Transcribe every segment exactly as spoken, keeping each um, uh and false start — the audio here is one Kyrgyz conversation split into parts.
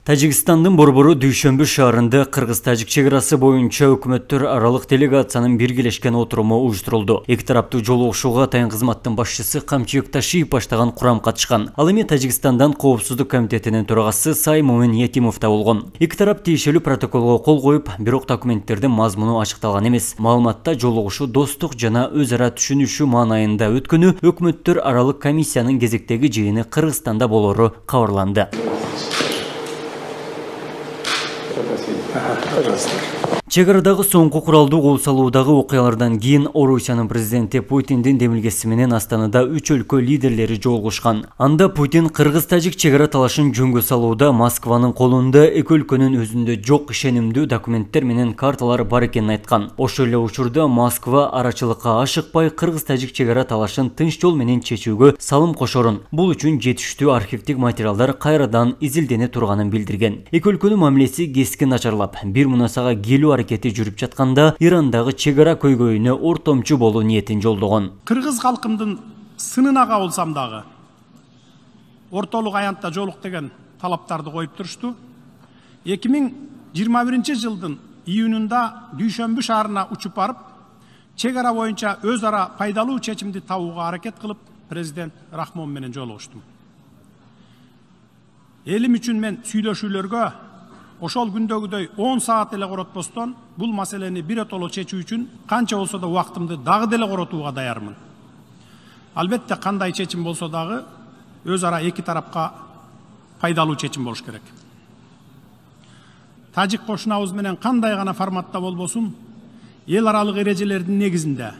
Тажикстандын борбору Дүйшөмбү шаарында кыргыз-тажик чек арасы боюнча өкмөттөр аралык делегациянын биргелешкен отуруму уюштурулду. Эки тараптуу жолугушууга Тайын кызматтын башчысы Камчыбек Ташиев баштаган курам катышкан. Ал эми Тажикстандан Коопсуздук комитетинин төрагасы Сай Момин Етимов да болгон. Эки тарап тиешелүү протоколго кол коюп, бирок документтердин мазмуну ачыкталган эмес. Маалыматта жолугушуу достук жана өз ара түшүнүшүү маанайында өткөнү, өкмөттөр аралык комиссиянын кезектеги жыйыны Кыргызстанда болору кабарланды. Чек арадагы соңку куралдуу кол салуудагы окуялардан кийин Орусиянын президенти Путиндин демилгеси менен Астанада үч өлкө лидерлери жолугушкан. Анда Путин кыргыз-тажик чек ара талашын жөнгө салууда Москванын колунда эки өлкөнүн өзүндө жок ишенимдүү документтер менен карталар бар экенин айткан. Ошол эле учурда Москва арачылыкка ашыкпай кыргыз-тажик чек ара талашын тынч жол менен чечүүгө салым кошорун, бул үчүн жетиштүү архивдик материалдар кайрадан изилдене турганын билдирген. Эки өлкөнүн мамилеси кескин начарлап, бир мунасага келүү аракети жүрүп жатканда Ирандагы чек ара көйгөйүнө ортомчу болуу ниетин жолдогон. Кыргыз калкымдын сынына кабылсам дагы ортолук аянтта жолук деген талаптарды коюп турушту. эки миң жыйырма биринчи жылдын июнунда Дүйшөмбү шаарына учуп барып, чек ара боюнча өз ара пайдалуу чечимди табууга аракет кылып, президент Рахмон менен жолугуштум. Элим үчүн мен сүйлөшүүлөргө ошол күндөгүдөй он саат эле коротпостон бул маселени биротоло чечүү үчүн канча болсо да убактымды дагы деле коротууга даярмын. Албетте кандай чечим болсо дагы өз ара эки тарапка пайдалуу чечим болуш керек. Тажик кошунабыз менен кандай гана форматта болбосун, эл аралык эрежелердин негизинде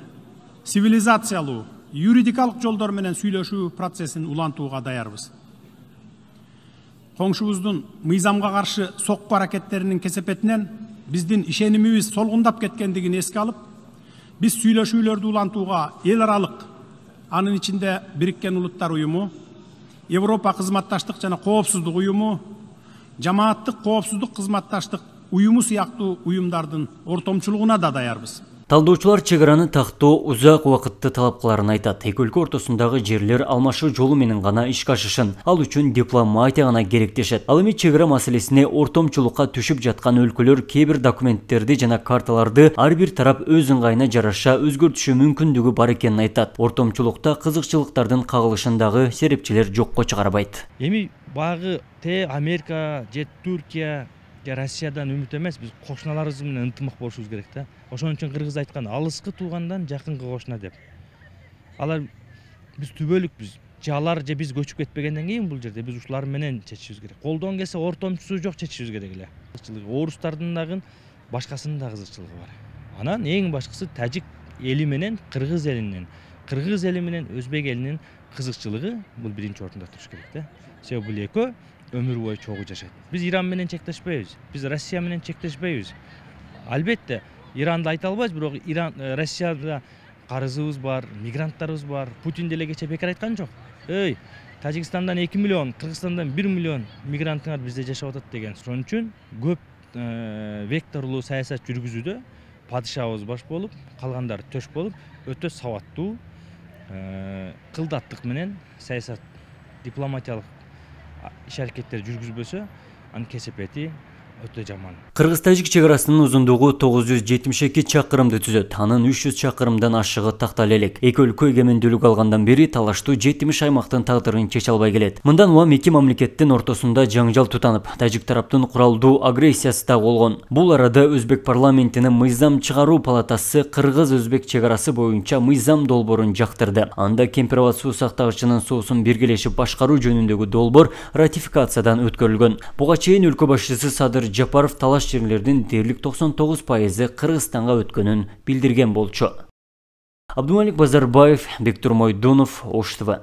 цивилизациялуу, юридикалык жолдор менен сүйлөшүү процессин улантууга даярбыз. Коңшубуздун мыйзамга каршы сокку аракеттеринин кесепетинен биздин ишенимибиз солгундап кеткендигин эске алып, биз сүйлөшүүлөрдү улантууга эл аралык, анын ичинде Бириккен Улуттар уюму, Европа кызматташтык жана коопсуздук уюму, жамааттык коопсуздук кызматташтык уюму сыяктуу уюмдардын ортомчулугуна да даярбыз. Талдоочулар чек араны тактоо узак убакытты талап кыларын айтат. Эки өлкө ортосундагы жерлер алмашуу жолу менен гана ишке ашышын, ал үчүн дипломатия гана керектешет. Ал эми чек ара маселесине ортомчулукка түшүп жаткан өлкөлөр кээ бир документтерди жана карталарды ар бир тарап өз ыңгайына жараша өзгөртүшү мүмкүндүгү бар экенин айтат. Ортомчулукта кызыкчылыктардын кагылышындагы серепчилер жокко чыгарбайт. Эми багы те Америка же Түркия Россиядан үмүт эмес, биз кошуналарыбыз менен ынтымак болушубуз керек да. Ошон үчүн кыргыз айткан алыскы туугандан жакынкы кошуна деп. Алар биз түбөлүкпүз. Же алар же биз көчүп кетпегенден кийин бул жерде биз ушулар менен чечишибиз керек. Колдон келсе ортомчусу жок чечишибиз керек эле. Орустардын дагы башкасынын да кызыкчылыгы бар. Анан эң башкысы тажик эли менен кыргыз элинин, кыргыз эли менен өзбек элинин кызыкчылыгы бул биринчи орунда туруш керек да. Себеби бул экөө өмүр бою чогуу жашайт. Биз Иран менен чектешпейбиз, биз Россия менен чектешпейбиз. Албетте Иранды айта албайбыз, бирок Иран, Россияда карызыбыз бар, мигранттарыбыз бар. Путин деле кече бекер айткан жок. Эй, Тажикстандан эки миллион, Кыргызстандан бир миллион мигранттар бизде жашап атат деген. Ошон үчүн көп векторлуу саясат жүргүзүүдө падышабыз баш болуп, калгандары төш болуп, өтө сабаттуу кылдаттык менен саясат, дипломатиялык иш аракеттер жүргүзбөсө, анын кесепети өтө жаман. Кыргыз-тажик чек арасынын узундугу тогуз жүз жетимиш эки чакырымды түзөт. Анын үч жүз чакырымдан ашыгы тактал элек. Эки өлкө эгемендүүлүк алгандан бери талаштуу жетимиш аймактын тагдырын чече албай келет. Мындан улам эки мамлекеттин ортосунда жаңжал тутанып, тажик тараптын куралдуу агрессиясы да болгон. Бул арада Өзбек парламентинин мыйзам чыгаруу палатасы кыргыз-өзбек чек арасы боюнча мыйзам долбоорун жактырды. Анда кемпирабад суу сактагычынын суусун биргелешип башкаруу жөнүндөгү долбоор ратификациядан өткөрүлгөн. Буга чейин өлкө башчысы Садыр Жапаров талаш жерлердин дээрлик токсон тогуз пайызы Кыргызстанга өткөнүн билдирген болчу. Абдумалик Базарбаев, Бектур Мойдонов, Ош Т В.